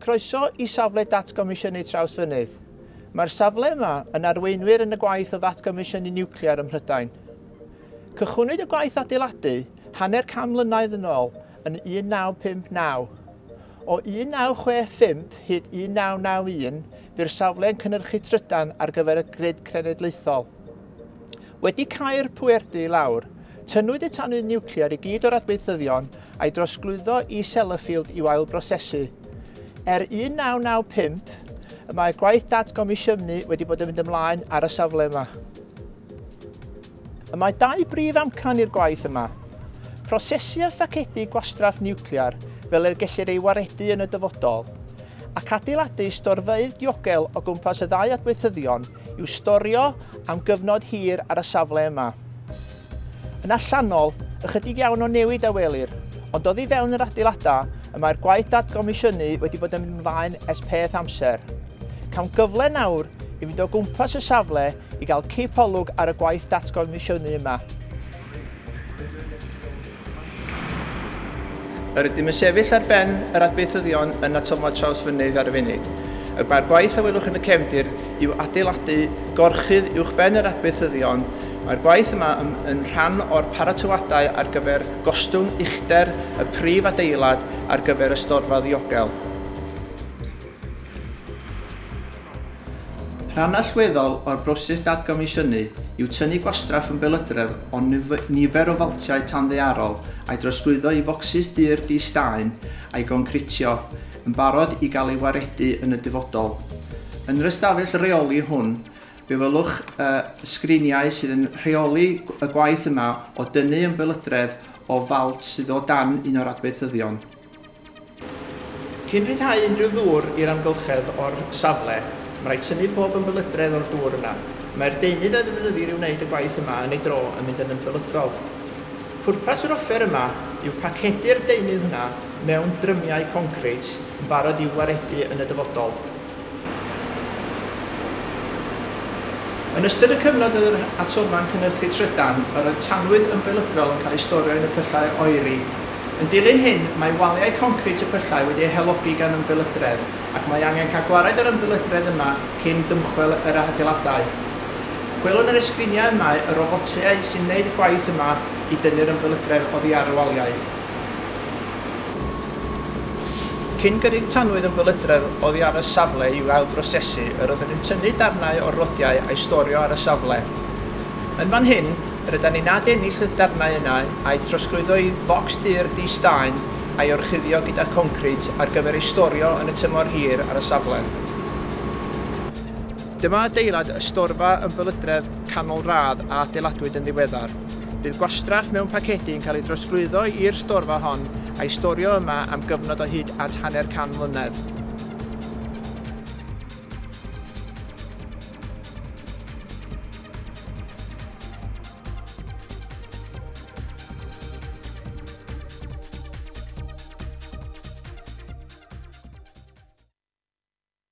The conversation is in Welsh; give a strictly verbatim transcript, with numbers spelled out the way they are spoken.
Croeso i safle datgomisiynu Trawsfynydd. Mae'r safle yma yn arweinwyr yn y gwaith o ddatgomisiynu niwclear ym Mhrydain. Cychwynnwyd y gwaith adeiladu hanner can mlynedd yn ôl yn un naw pump naw. O un naw chwe phump hyd un naw naw un, bu'r safle yn cynhyrchu trydan ar gyfer y grid cenedlaethol. Wedi cau'r pwerdy i lawr, tynnwyd y tanwydd niwclear i gyd o'r adweithyddion a'i drosglwyddo i Sellafield i'w ailbrosesu. Er un naw naw pump, y mae gwaith datgomisiynu wedi bod yn mynd ymlaen ar y safle yma. Y mae dau brif amcan i'r gwaith yma. Prosesu a phacedu gwastraff niwclear fel yr gellir ei waredu yn y dyfodol, ac adeiladu storfeydd diogel o gwmpas y ddau adweithyddion i'w storio am gyfnod hir ar y safle yma. Yn allanol, ychydig iawn o newid a welir, ond oddi fewn yr adeiladau y mae'r gwaith datgomisiynu wedi bod yn mynd ymlaen ers peth amser. Cawn gyfle nawr i fynd o gwmpas y safle i gael cipolwg ar y gwaith datgomisiynu yma. Yr ydym yn sefyll ar ben yr adweithyddion yn atomfa Trawsfynydd ar y funud. Y mae'r gwaith a welwch yn y cefndir yw adeiladu gorchudd uwchben yr adweithyddion. Mae'r gwaith yma yn, yn rhan o'r paratoadau ar gyfer gostwng uchder y prif adeilad ar gyfer y storfa ddiogel. Rhan allweddol o'r broses datgomisiynu yw tynnu gwastraff yn belydredd o nifer o faltiau tanddaearol a'i drosglwyddo i focsys dur di-staen a'i goncritio, yn barod i gael ei waredu yn y dyfodol. Yn yr ystafell reoli hwn, fe welwch uh, sgriniau sydd yn rheoli y gwaith yma o dynnu ymbelydredd o falt sydd o dan un o'r adweithyddion. Cyn rhyddhau unrhyw ddŵr i'r amgylchedd o'r safle, mae rhaid tynnu pob ymbelydredd o'r dŵr yna. Mae'r deunydd a ddefnyddir i wneud y gwaith yma yn ei dro yn mynd yn ymbelydrol. Pwrpas yr offer yma yw pacedu'r deunydd hwnna mewn drymiau concrit yn barod i'w waredu yn y dyfodol. Yn ystod y cyfnod oedd yr atomfa'n cynhyrchu trydan, yr oedd tanwydd ymbelydrol yn cael ei storio yn y pyllau oeri. Yn dilyn hyn, mae waliau concrit y pyllau wedi eu halogi gan ymbelydredd, ac mae angen cael gwared yr ymbelydredd yma cyn dymchwel yr adeiladau. Gwelwn ar y sgriniau yma y robotiau sy'n gwneud y gwaith yma i dynnu'r ymbelydredd oddi ar y waliau. Cyn gyrru'r tanwydd ymbelydredd oddi ar y safle i'w ailbrosesu, yr oedden nhw'n tynnu darnau o'r rodiau a'i storio ar y safle. Yn fan hyn, yr ydan ni'n adennill y darnau yna a'i trosglwyddo i focs dur di-staen a'i orchuddio gyda concrit ar gyfer ei storio yn y tymor hir ar y safle. Dyma adeilad y storfa ymbelydredd canol radd a adeiladwyd yn ddiweddar. Bydd gwastraff mewn pacedi yn cael ei drosglwyddo i'r storfa hon a'i storio yma am gyfnod o hyd at hanner can mlynedd.